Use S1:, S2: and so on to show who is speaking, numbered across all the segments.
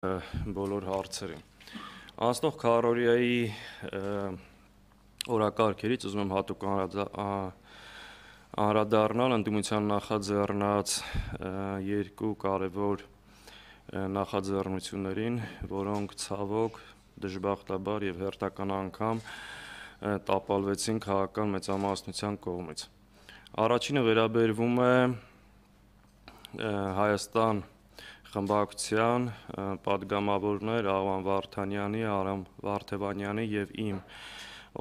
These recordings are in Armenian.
S1: բոլոր հարցերին։ Անցնող քառօրյայի օրակարգերից ուզում եմ հատուկ անդրադառնալ ընդդիմության նախաձեռնած երկու կարևոր նախաձեռնություններին, որոնք ցավոք, դժբախտաբար եւ հերթական անգամ տապալվեցին քաղաքական մեծամասնության կողմից։ Առաջինը վերաբերվում է Հայաստան խմբակցության պատգամավորներ Աղվան Վարդանյանի, Արամ Վարդևանյանի եւ իմ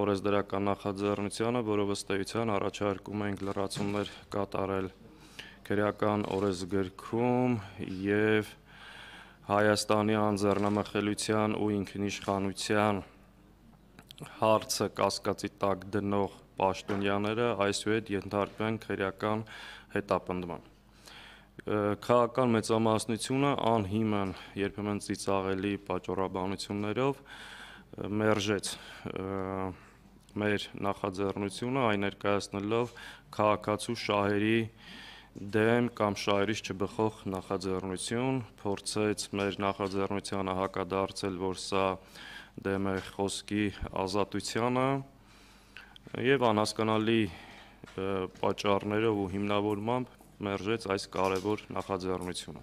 S1: օրենսդրական նախաձեռնությանը, որով ըստ էության առաջարկում ենք լրացումներ կատարել քրեական օրենսգրքում եւ Հայաստանի անձեռնամխելիության ու ինքնիշխանության հարցը կասկածի տակ դնող պաշտոնյաները այսուհետ ենթարկվեն քրեական հետապնդման։ Քաղաքական մեծամասնությունը անհիմն, երբեմն ծիծաղելի պատճառաբանություններով մերժեց մեր նախաձեռնությունը, այն ներկայացնելով քաղաքացու շահերի դեմ կամ շահերից չբխող նախաձեռնություն, փորձեց մեր նախաձեռնությանը հակադարձել, որ սա դեմ է խոսքի ազատությանը եւ անհասկանալի պատճառներով ու հիմնավորմամբ մերժեց այս կարևոր նախաձեռնությունը։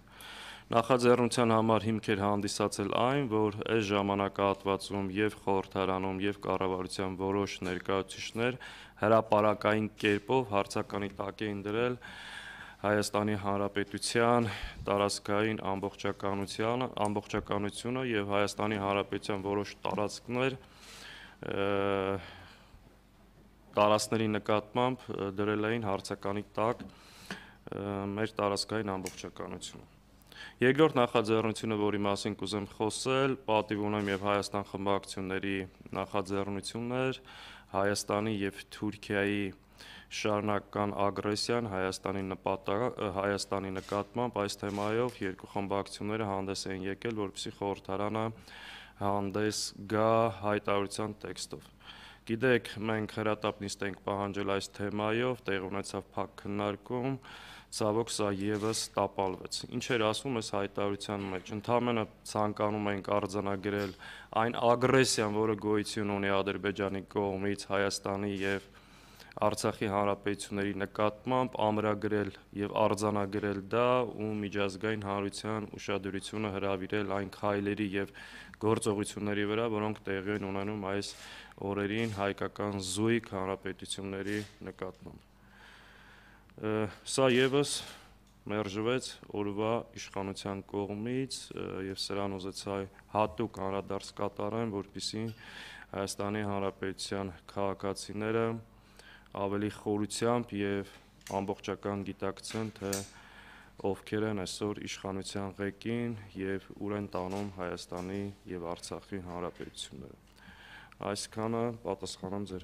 S1: Նախաձեռնության համար հիմք էր հանդիսացել այն, որ այս ժամանակահատվածում եւ խորհրդարանում եւ կառավարության որոշ ներկայացուցիչներ հրապարակային կերպով հարցականի տակ էին դրել Հայաստանի Հանրապետության տարածքային ամբողջականությունը եւ Հայաստանի Հանրապետության որոշ տարածքների նկատմամբ դրել էին հարցականի տակ մեր տարածքային ամբողջականությունը։ Երկրորդ նախաձեռնությունը, որի մասին կուզեմ խոսել, պատիվ ունեմ եւ Հայաստան խմբակցությունների նախաձեռնությունն էր Հայաստանի եւ Թուրքիայի շարունակական ագրեսիան Հայաստանի նկատմամբ այս թեմայով երկու խմբակցությունները հանդես էին եկել, որպեսզի խորհրդարանը հանդես գա հայտարարության տեքստով։ Գիտեք, մենք հրատապ նիստ ենք պահանջել այս թեմայով, տեղի ունեցավ փակ քննարկում, ցավոք սա եւս տապալվեց։ Ինչ էր ասվում այս հայտարարության մեջ։ Ընդհանրապես ցանկանում ենք արձանագրել այն ագրեսիան, որը գոյություն ունի Ադրբեջանի կողմից Հայաստանի եւ Արցախի հանրապետությունների նկատմամբ, ամրագրել եւ արձանագրել դա ու միջազգային հանրության ուշադրությունը հրավիրել այն քայլերի եւ գործողությունների վրա, որոնք տեղի են ունենում այս օրերին հայկական զույգ հանրապետությունների նկատմամբ։ Սա եւս մերժվեց օրվա իշխանության կողմից եւ սրան ուզեցա հատուկ անդրադարձ կատարեմ, որպեսզի Հայաստանի Հանրապետության քաղաքացիները ավելի խորությամբ եւ ամբողջական գիտակցեն, թե ովքեր են այսօր իշխանության ղեկին եւ ուր են տանում Հայաստանի եւ Արցախի հանրապետությունները։ Այսքանը պատասխանեմ ձեր